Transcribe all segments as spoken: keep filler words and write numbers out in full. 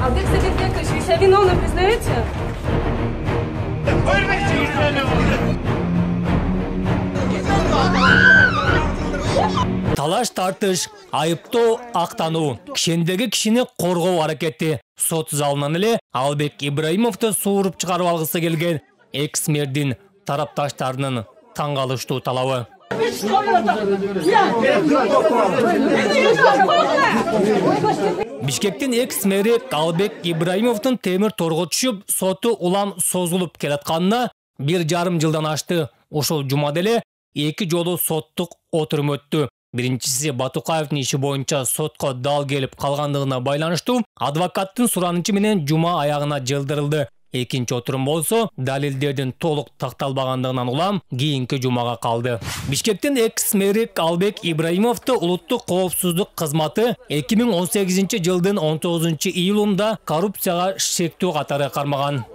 Албек Сабитбекович, вы себя виновным признаете? Талаш тартыш, айыптоо, актануу, кишендеги кишини коргоо аракети. Сот залынан эле Албек Ибраимовду сууруп чыгарып алгысы келген экс-мэрдин тарапташтарынын таң калыштуу талабы. Бишкектин экс-мэри Албек Ибраимовдун темир торго түшүп, соту улам созулуп келатканына бир жарым жылдан ашты. Ошол жумада эле эки жолу соттук отурум өттү. Биринчиси Батукаевдин иши боюнча сотко дал келип калгандыгына байланыштуу адвокаттын суранычы менен жума аягына жылдырылды. Экинчи отурум болсо далилдердин толук такталбагандыгынан улам кийинки жумага калды. Бишкектин экс-мэри Албек Ибраимовду улуттук коопсуздук кызматы эки миң он сегизинчи жылдын он тогузунчу июлунда коррупцияга шектүү катары кармаган.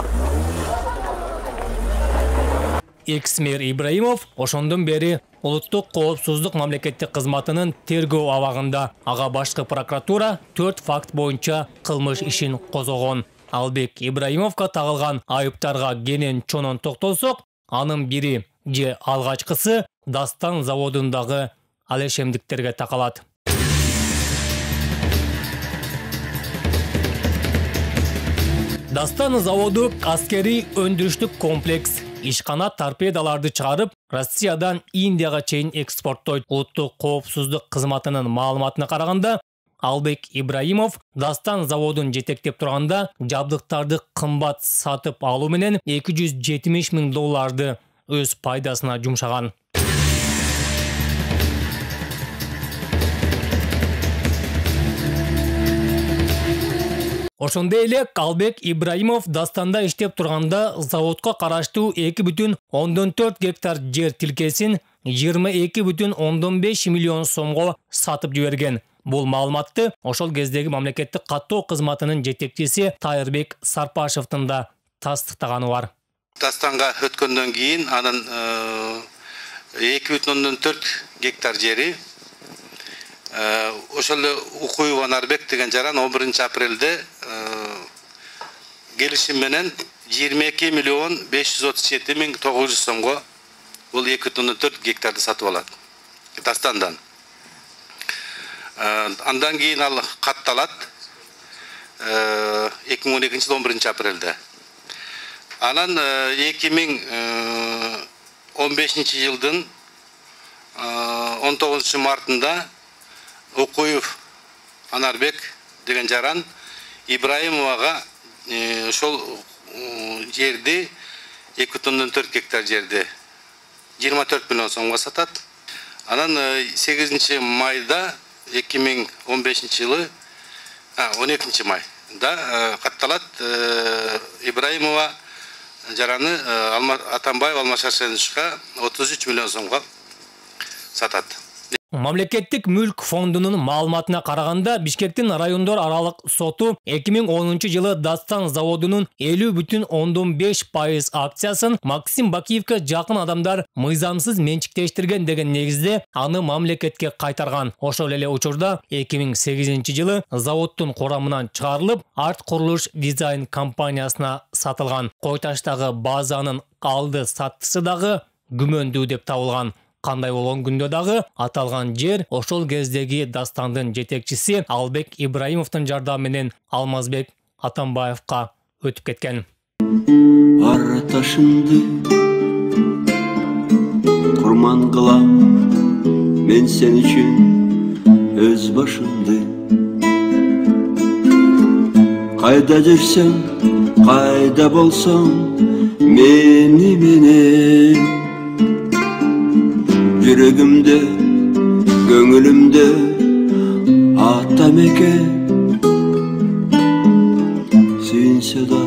Экс-мэр Ибраимов ошондон бери улуттук коопсуздук мамлекеттик кызматынын тергөө абагында. Ага башкы прокуратура төрт факт боюнча кылмыш ишин козгогон. Албек Ибраимовго тагылган айыптарга кенен чонон токтолсок, анын бири же алгачкысы Дастан заводундагы алешемдиктерге такалат. Дастан заводу аскерий өндүрүштүк комплекс. Ишкана торпедаларды чыгарып, Россиядан Индияга чейин экспорттойт. Улуттук коопсуздук кызматынын маалыматына караганда, Албек Ибраимов Дастан заводун жетектеп турганда жабдыктарды кымбат сатып алуу менен эки жүз жетимиш миң долларды өз пайдасына жумшаган. Ошондой эле Албек Ибраимов Дастанда иштеп турганда заводко караштуу эки бүтүн ондон төрт гектар жер тилкесин жыйырма эки бүтүн ондон беш миллион сомго сатып жиберген. Бул маалыматты ошол кездеги мамлекеттик каттоо кызматынын жетекчиси Тайырбек Сарпашевдин да тастыктаганы бар. Дастанга өткөндөн кийин анын эки бүтүн ондон төрт гектар жери ошол эле Укуев Анарбек деген жаран он биринчи апрелде келишим менен жыйырма эки миллион беш жүз отуз жети миң тогуз жүз сомго бул эки бүтүн ондон төрт гектарды сатып алат Дастандан. Андан кийин ал катталат эки миң он экинчи жылы он биринчи апрелде. Анан эки миң он бешинчи жылдын он тогузунчу мартында Укуев Анарбек деген жаран Ибраимовага ошол жерди эки бүтүн ондон төрт гектар жерди жыйырма төрт миллион сомго сатат. Анан сегизинчи майда эки миң он бешинчи жылы он экинчи майда катталат Ибраимова жараны Атамбаев Алмашашевичке отуз үч миллион сомго сатат. Мамлекеттик мүлк фондунун маалыматына караганда Бишкектин райондор аралык соту эки миң онунчу жылы Дастан заводунун элүү бүтүн ондон беш пайыз акциясын Максим Бакиевке жакын адамдар мыйзамсыз менчиктештирген деген негизде аны мамлекетке кайтарган. Ошол эле учурда эки миң сегизинчи жылы заводдун курамынан чыгарылып, Арт курулуш дизайн компаниясына сатылган. Койташтагы базанын алды саттысы дагы күмөндүү деп табылган. Кандай болгон күндө дагы аталган жер ошол кездеги Дастандын жетекчиси Албек Ибраимовдун жардамы менен Алмазбек Атамбаевка өтүп кеткен. Ар ташымды курман кылам мен сен үчүн өз башымды. Кайда жүрсөң, кайда болсоң мени менен жүрөгүмдө, көңүлүмдө атам экен сүйүнсө да.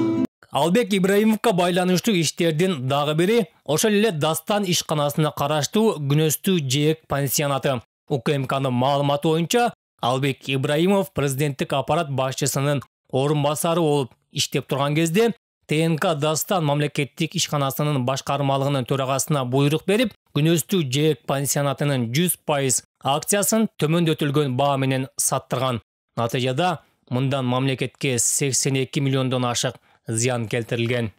Албек Ибраимовго байланыштуу иштердин дагы бири ошол эле Дастан ишканасына караштуу Күнөстүү Жээк пансионаты. УКМКнын маалыматы боюнча Албек Ибраимов президенттик аппарат башчысынын орун басары болуп иштеп турган кезде ТНК Дастан мамлекеттик ишканасынын башкармалыгынын төрагасына буйрук берип, Күнөстүү Жээк пансионатынын жүз пайыз акциясын төмөндөтүлгөн баа менен саттырган. Натыйжада мындан мамлекетке сексен эки миллиондон ашык зыян келтирилген.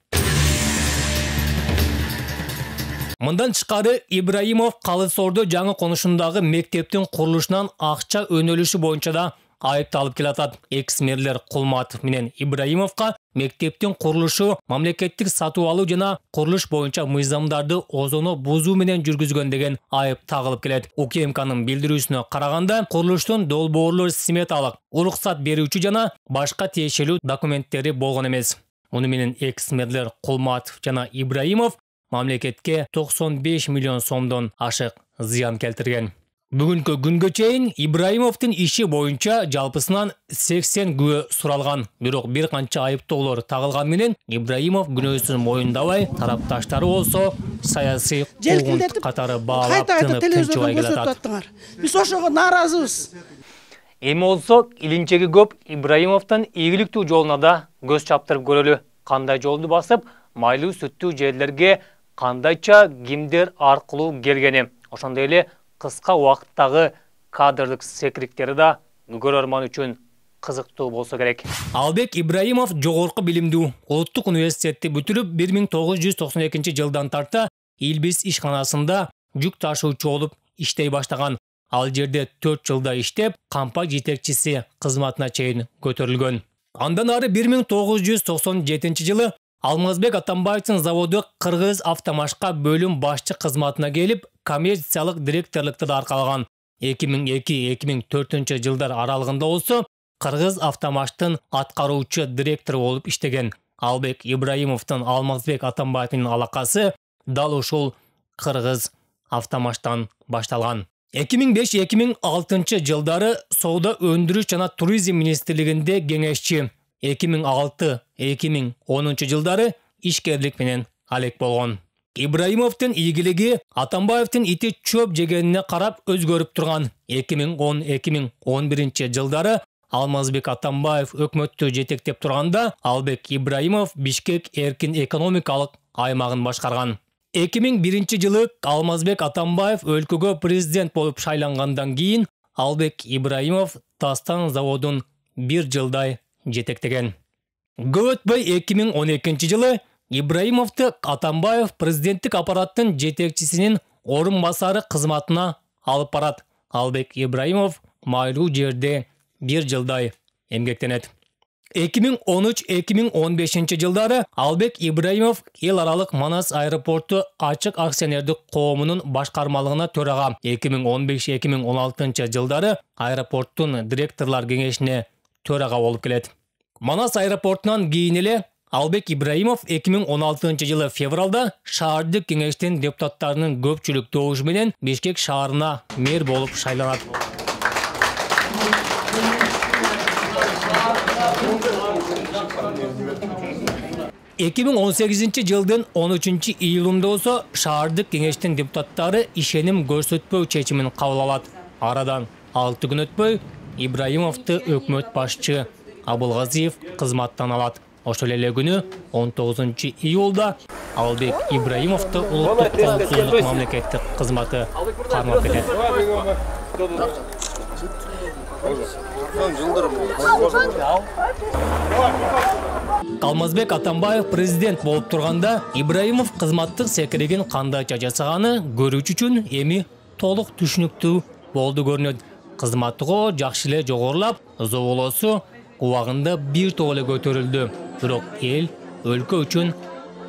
Мындан тышкары Ибраимов Калыс-Ордо жаңы конушундагы мектептин курулушунан акча өнөлүшү боюнча да айыпталып келатат. Экс-мэрлер Кулматов менен Ибраимовго мектептин курулушу, мамлекеттик сатып алуу жана курулуш боюнча мыйзамдарды озоно бузуу менен жүргүзгөн деген айып тагылып келет. УКМКнын билдирүүсүнө караганда, курулуштун долбоорлор сметалык, уруксат берүүчү жана башка тиешелүү документтери болгон эмес. Муну менен экс-мэрлер Кулматов жана Ибраимов мамлекетке токсон беш миллион сомдон ашык зыян келтирген. Бүгүнкү күнгө чейин Ибраимовдун иши боюнча жалпысынан сексен күбө суралган. Бирок бир канча айыптоолор тагылган менен Ибраимов күнөөсүн моюндабай, тарапташтары болсо саясий куугунт катары баалап тынып тынчыбай келатат. Биз ошого нааразыбыз. Эми болсо илинчеги көп Ибраимовдун ийгиликтүү жолуна да көз чаптырып көрөлү. Кандай жолду басып, майлуу сүттүү жерлерге кандайча кимдер аркылуу келгени, ошондой эле кыска убакыттагы кадрлык секириктери да көрөрман үчүн кызыктуу болсо керек. Албек Ибраимов жогорку билимдүү Улуттук университетти бүтүрүп, бир миң тогуз жүз токсон экинчи жылдан тарта Илбис ишканасында жүк ташуучу болуп иштей баштаган. Ал жерде төрт жылда иштеп, кампа жетекчиси кызматына чейин көтөрүлгөн. Андан ары бир миң тогуз жүз токсон жетинчи жылы Алмазбек Атамбаевдин заводу Кыргыз Автомашка бөлүм башчы кызматына келип, коммерциялык директорлукту да аркалаган. эки миң эки — эки миң төртүнчү жылдар аралыгында болсо Кыргыз Автомаштын аткаруучу директору болуп иштеген. Албек Ибраимовдун Алмазбек Атамбаевдин алакасы дал ушул Кыргыз Автомаштан башталган. эки миң беш — эки миң алтынчы жылдары соода өндүрүш жана туризм министрлигинде кеңешчи, эки миң алты — эки миң онунчу жылдары ишкерлик менен алек болгон. Ибраимовдун ийгилиги Атамбаевдин ити чөп жегенине карап өзгөрүп турган. эки миң он — эки миң он биринчи жылдары Алмазбек Атамбаев өкмөттү жетектеп турганда, Албек Ибраимов Бишкек эркин экономикалык аймагын башкарган. эки миң биринчи жылы Алмазбек Атамбаев өлкөгө президент болуп шайлангандан кийин Албек Ибраимов Дастан заводун бир жылдай жетектеген. Көп өтпөй эки миң он экинчи жылы Ибраимовду Атамбаев президенттик аппараттын жетекчисинин орун басары кызматына алып барат. Албек Ибраимов майлуу жерде бир жылдай эмгектенет. эки миң он үч — эки миң он бешинчи жылдары Албек Ибраимов эл аралык Манас аэропорту ачык акционердик коомунун башкармалыгына төрага, эки миң он беш — эки миң он алтынчы жылдары аэропорттун директорлор кеңешине төрага болуп келет. Манас аэропортунан кийин эле Албек Ибраимов эки миң он алтынчы жылы февралда шаардык кеңештин депутаттарынын көпчүлүк добушу менен Бишкек шаарына мэр болуп шайланат. эки миң он сегизинчи жылдын он үчүнчү июлунда болсо шаардык кеңештин депутаттары ишеним көрсөтпөө чечимин кабыл алат. Арадан алты күн өтпөй Ибраимовду өкмөт башчы Абылгазиев кызматтан алат. Ошол эле күнү он тогузунчу июлда Албек Ибраимовду улуттук коопсуздук мамлекеттик кызматы кармап кетет. Алмазбек Атамбаев президент болуп турганда Ибраимов кызматтык секиригин кандайча жасаганы көрүүчү үчүн эми толук түшүнүктүү болду көрүнөт. Кызматтыгы жакшы эле жогорулап, зоболосу убагында бир топ эле көтөрүлдү. Бирок эл, өлкө үчүн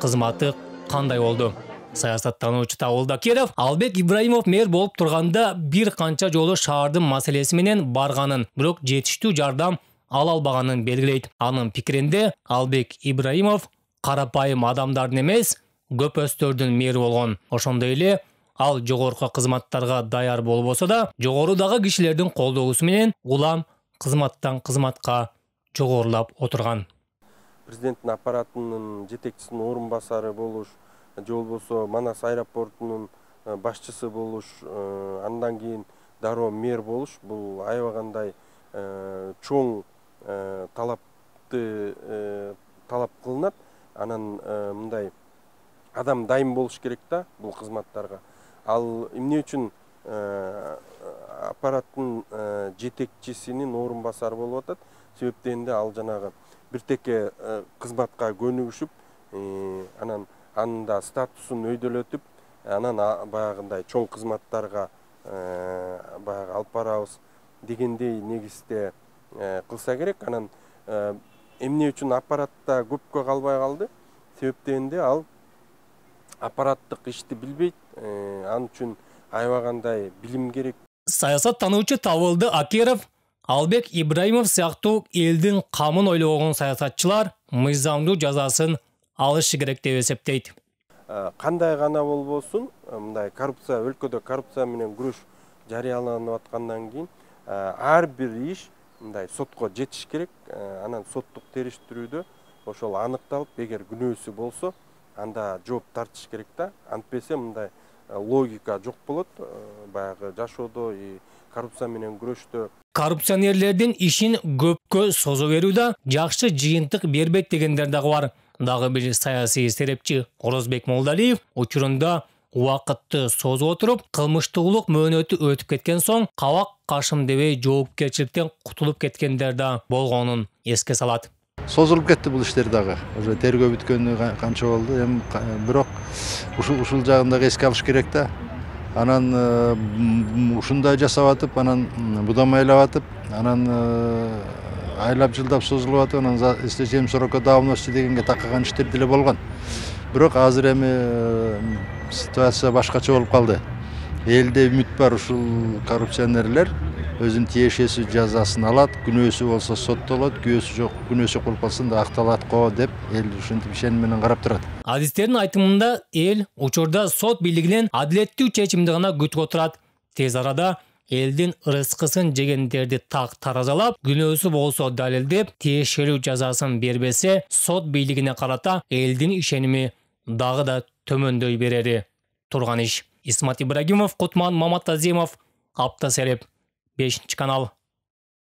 кызматы кандай болду? Саясаттануучу Табылда Керов Албек Ибраимов мэр болуп турганда бир канча жолу шаардын маселеси менен барганын, бирок жетиштүү жардам ала албаганын белгилейт. Анын пикиринде Албек Ибраимов карапайым адамдардын эмес, көпөстөрдүн мэри болгон. Ошондой эле ал жогорку кызматтарга даяр болбосо да, жогорудагы кишилердин колдоосу менен улам кызматтан кызматка жогорулап отурган. Президенттин аппаратынын жетекчисинин орун басары болуш, же болбосо Манас аэропортунун башчысы болуш, андан кийин дароо мэр болуш, бул аябагандай чоң талапты талап кылынат. Анан мындай адам дайым болуш керек да бул кызматтарга. Ал эмне үчүн аппараттын жетекчисинин орун басары болуп атат. Себептенде ал жанагы бир теке кызматка көнүгүшүп, анан анын да статусун өйдөлөтүп, анан баягындай чоң кызматтарга баягы алып барабыз дегендей негизде кылса керек. Анан эмне үчүн аппаратта көпкө калбай калды? Себептенде ал аппараттык ишти билбейт, ал үчүн аябагандай билим керек. Саясаттануучу Табылды Акеров, Албек Ибраимов сыяктуу элдин камын ойлогон саясатчылар мыйзамдуу жазасын алышы керек деп эсептейт. Кандай гана болбосун, мындай коррупция, өлкөдө коррупция менен күрөш жарыяланып аткандан кийин ар бир иш мындай сотко жетиш керек. Анан соттук териштирүүдө ошол аныкталып, эгер күнөөсү болсо, анда жооп тартыш керек да. Антпесе мындай логика жок болот баягы жашоодо, коррупция менен күрөштө. Коррупционерлердин ишин көпкө созо берүү да жакшы жыйынтык бербейт дегендер дагы бар. Дагы бир саясий серепчи Орозбек Молдалиев учурунда убакытты созуп отуруп, кылмыштуулук мөөнөтү өтүп кеткен соң кабак кашым дебей жоопкерчиликтен кутулуп кеткендер да болгонун эске салат. Созулуп кетти бул иштер дагы. Уже тергөө бүткөнү канча болду. Эми бирок ушул ушул жагын дагы эске алыш керек да. Анан ушундай жасап атып, анан будамайлап атып, анан айлап жылдап созулуп атып, анан эстечем сроко давности дегенге таккан иштер деле болгон. Бирок азыр эми ситуация башкача болуп калды. Элде үмүт бар, ушул коррупционерлер өзүнүн тиешеси жазасын алат, күнөөсү болсо соттолот, күнөөсү жок, күнөөсү кылып калсын да акталат го деп эл ушинтип ишеним менен карап турат. Адистердин айтымында эл учурда сот бийлигинен адилеттүү чечимди гана күтүп отурат. Тез арада элдин ырыскысын жегендерди так таразалап, күнөөсү болсо далилдеп, тиешелүү жазасын бербесе, сот бийлигине карата элдин ишеними дагы да төмөндөй берери турган иш. Исмат Ибрагимов, Кутман Маматазимов, Апта Сереп, бешинчи канал.